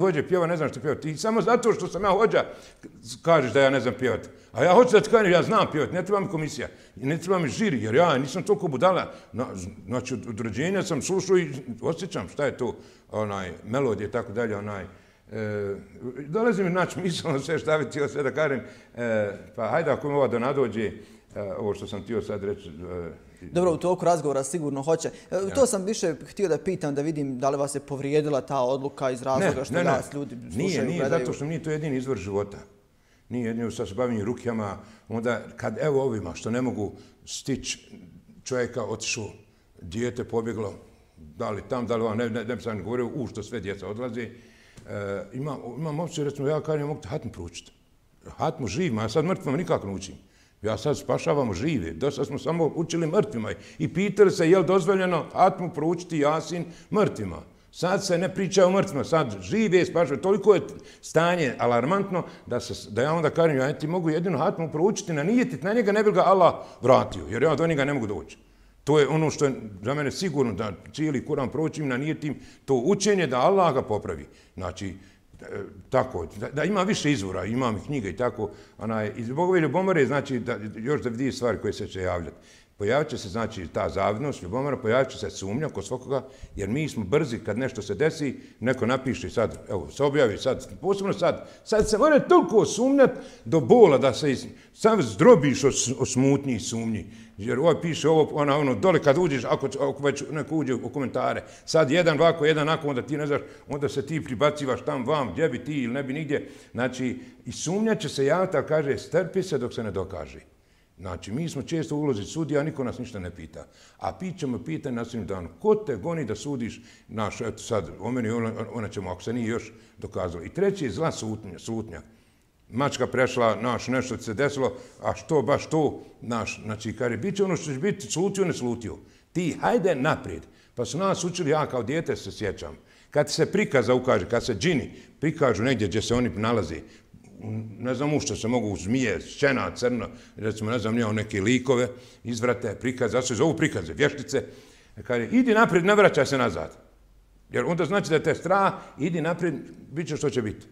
Hođe pjeva, ne znam što pjevati. Ti samo zato što sam ja hođa kažeš da ja ne znam pjevati. A ja hoću da ti kažem, ja znam pjevati, ne treba mi komisija, ne treba mi žiri, jer ja nisam toliko budala. Znači, od rođenja sam slušao i osjećam šta je to, melodije i tako dalje, dolazi mi naći misleno sve šta bi htio sve da kažem, pa hajde ako mi ova da nadođe, ovo što sam htio sad reći. Dobro, u toku razgovora sigurno hoće. To sam više htio da pitam, da vidim da li vas je povrijedila ta odluka iz razloga što vas ljudi slušaju, Nije, zato što nije to jedini izvor života. Nije jedino što se bavim rukama, onda kad evo ovima što ne mogu stići čovjeka otišao, dijete pobjeglo, da li tam, da li vam, ne bi sam govorio u što sve djeca odlaze. Imam opciju, recimo, ja kažem, ja mogu te hatmu proučiti. Hatmu živima, ja sad mrtvima nikako ne učim. Ja sad spašavamo žive. Dosta smo samo učili mrtvima i pitali se je li dozvoljeno hatmu proučiti Jasin mrtvima. Sad se ne priča o mrtvima, sad žive spašavaju. Toliko je stanje alarmantno da ja onda kažem, ja ti mogu jedino hatmu proučiti na nijetit, na njega ne bi ga Allah vratio, jer ja do njega ne mogu doći. To je ono što je za mene sigurno da cijeli Kuran proučim na nijetim, to učenje da Allah ga popravi. Znači, tako, da ima više izvora, imam i knjige i tako. Iz Bogove ljubomore, znači, još da vidi stvari koje se će javljati. Pojavit će se, znači, ta zavidnost, ljubomora, pojavit će se sumnja kod svakoga, jer mi smo brzi kad nešto se desi, neko napiše sad, evo, se objavi sad, posebno sad se mora toliko sumnjati do bola da se sam zdrobiš od smutnji i sumnji. Jer ovaj piše ovo, ono, dole kad uđeš, ako već neko uđe u komentare, sad jedan ovako, jedan onako, onda ti ne znaš, onda se ti pribacivaš tam vam, gdje bi ti ili ne bi nigdje. Znači, i sumnja će se javiti, ali kaže, strpi se dok se ne dokaže. Znači, mi smo često u ulozi sudija, niko nas ništa ne pita. A ćemo pitanje na sudnjem danu, ko te goni da sudiš naš, eto sad, o meni ona ćemo, ako se nije još dokazalo. I treći je zla slutnja. Mačka prešla, nešto se desilo, a što baš to, znači, kaže, bit će ono što će biti, slutio, ne slutio. Ti, hajde naprijed. Pa su nas učili, ja kao dijete se sjećam, kad se prikaza ukaže, kad se džini prikažu negdje gdje se oni nalaze, ne znam u što se mogu zmije, šćena, crno, recimo, ne znam, nije neke likove, izvrate, prikaze, zato se zovu prikaze, vještice, kaže, idi naprijed, ne vraćaj se nazad. Jer onda znači da te strah, idi naprijed, bit će što će biti.